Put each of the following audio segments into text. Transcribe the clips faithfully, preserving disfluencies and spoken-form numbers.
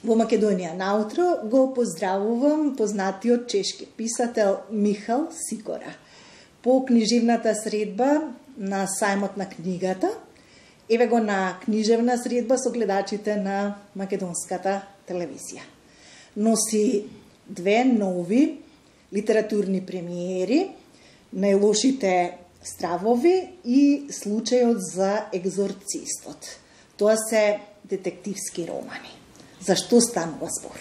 Во Македонија наутро го поздравувам познатиот чешки писател Михал Сикора. По книжевната средба на сајмот на книгата, еве го на книжевна средба со гледачите на македонската телевизија. Носи две нови литературни премиери, Најлошите стравови и Случајот за екзорцистот. Тоа се детективски романи. За што станува збор?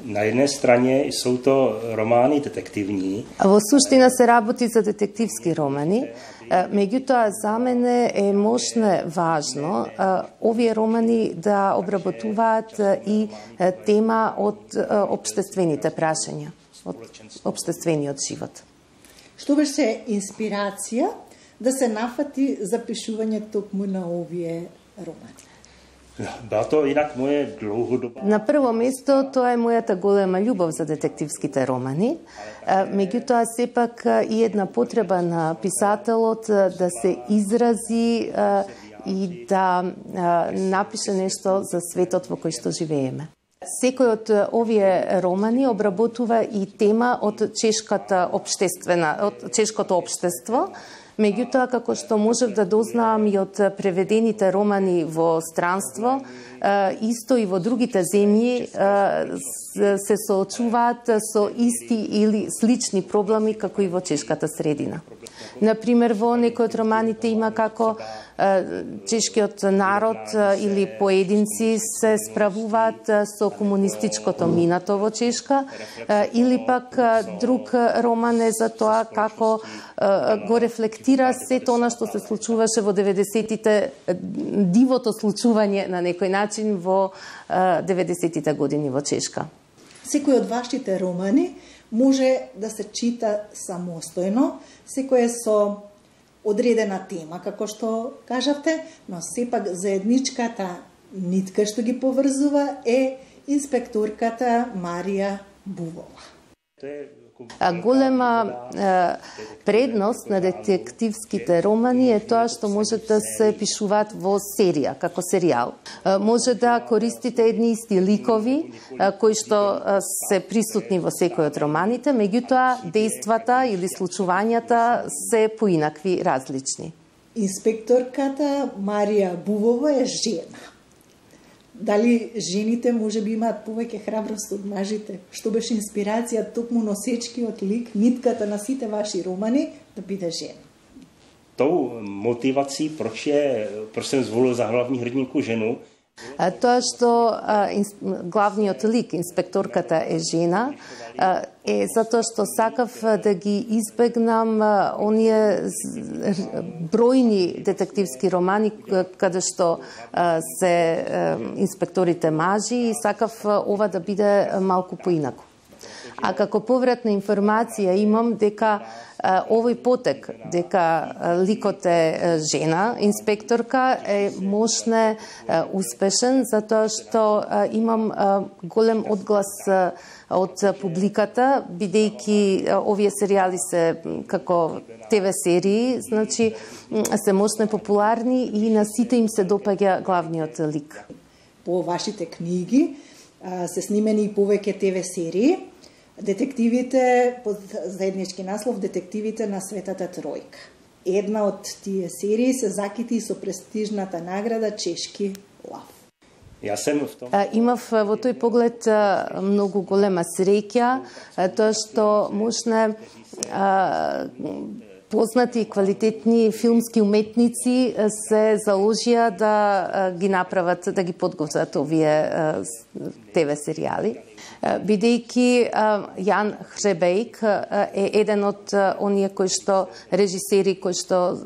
Na jednej strane sú to romány detektívni. Во суштина се работи за детективски романи, меѓутоа за мене е можно важно овие романи да обработуваат и тема од општествените прашања, од општествениот живот. Што беше инспирација да се нафати за пишување токму на овие романи? Ба то инак моје длгодоба. На прво место тоа е мојата голема љубов за детективските романи, меѓутоа сепак и една потреба на писателот да се изрази и да напише нешто за светот во кој што живееме. Секој од овие романи обработува и тема од чешката општествена, од чешкото општество. Меѓутоа, како што можев да дознаам и од преведените романи во странство, исто и во другите земји се соочуваат со исти или слични проблеми како и во чешката средина. Например, во некои од романите има како чешкиот народ или поединци се справуваат со комунистичкото минато во Чешка, или пак друг роман е за тоа како го рефлектира сето она што се случуваше во деветдесетите, дивото случување на некој начин во деветдесетите години во Чешка. Секој од вашите романи може да се чита самостојно, секој е со одредена тема, како што кажавте, но сепак заедничката нитка што ги поврзува е инспекторката Марија Бувова. Голема предност на детективските романи е тоа што може да се пишуваат во серија, како серијал. Може да користите едни исти ликови, кои што се присутни во секој од романите, меѓутоа дејствата или случувањата се поинакви, различни. Инспекторката Марија Бувова е жена. Дали жените може би имаат повеќе храброст од мажите? Што беше инспирација токму носечкиот лик, нитката на сите ваши романи да биде жена? Tou motivací, proč je, proč jsem zvolil za hlavní hrdinku ženu? Тоа што а, инс, главниот лик, инспекторката е жена, а, е затоа што сакав да ги избегнам а, оние бројни детективски романи каде што а, се а, инспекторите мажи и сакав а, ова да биде малку поинаку. А како повратна информација имам дека а, овој потек, дека а, ликот е жена, инспекторка, е можне а, успешен, затоа што а, имам а, голем одглас а, од публиката, бидејќи а, овие серијали се како те ве серии, значи се можне популарни и на сите им се допаѓа главниот лик. По вашите книги а, се снимени и повеќе те ве серии. Детективите, под заеднички наслов, детективите на Светата Тројка. Една од тие серии се закити со престижната награда Чешки лав. Јас сум в том. Имав во тој поглед многу голема среќа, тоа што можне познати и квалитетни филмски уметници се заложија да ги направат, да ги подготват овие те ве серијали. Бидејќи Јан Хребејк е еден од оние кои што режисери кои што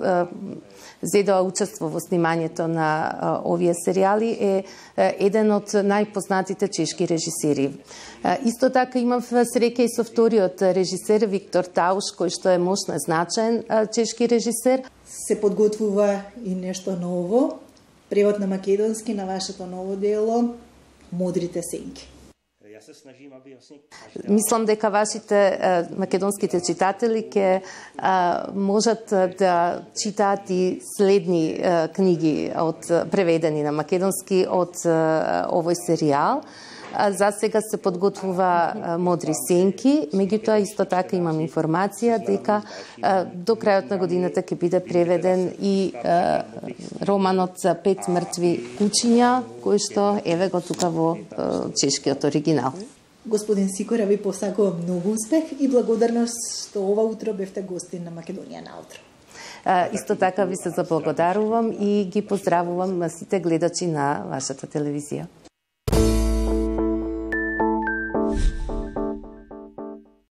зедоа учество во снимањето на овие серијали, е еден од најпознатите чешки режисери. Исто така имав среќа и со вториот режисер Виктор Тауш, кој што е мощно значаен чешки режисер. Се подготвува и нешто ново, превод на македонски на вашето ново дело Мудрите сенки. Мислам дека вашите македонските читатели ќе можат да читаат и следни книги од преведени на македонски од овој серијал. За сега се подготвува Модри сенки, меѓутоа исто така имам информација дека до крајот на годината ќе биде преведен и романот за пет мртви кучиња, кој што еве го тука во чешкиот оригинал. Господин Сикора, ви посакувам многу успех и благодарност што ова утро бевте гостин на Македонија на утро. Исто така ви се заблагодарувам и ги поздравувам сите гледачи на вашата телевизија.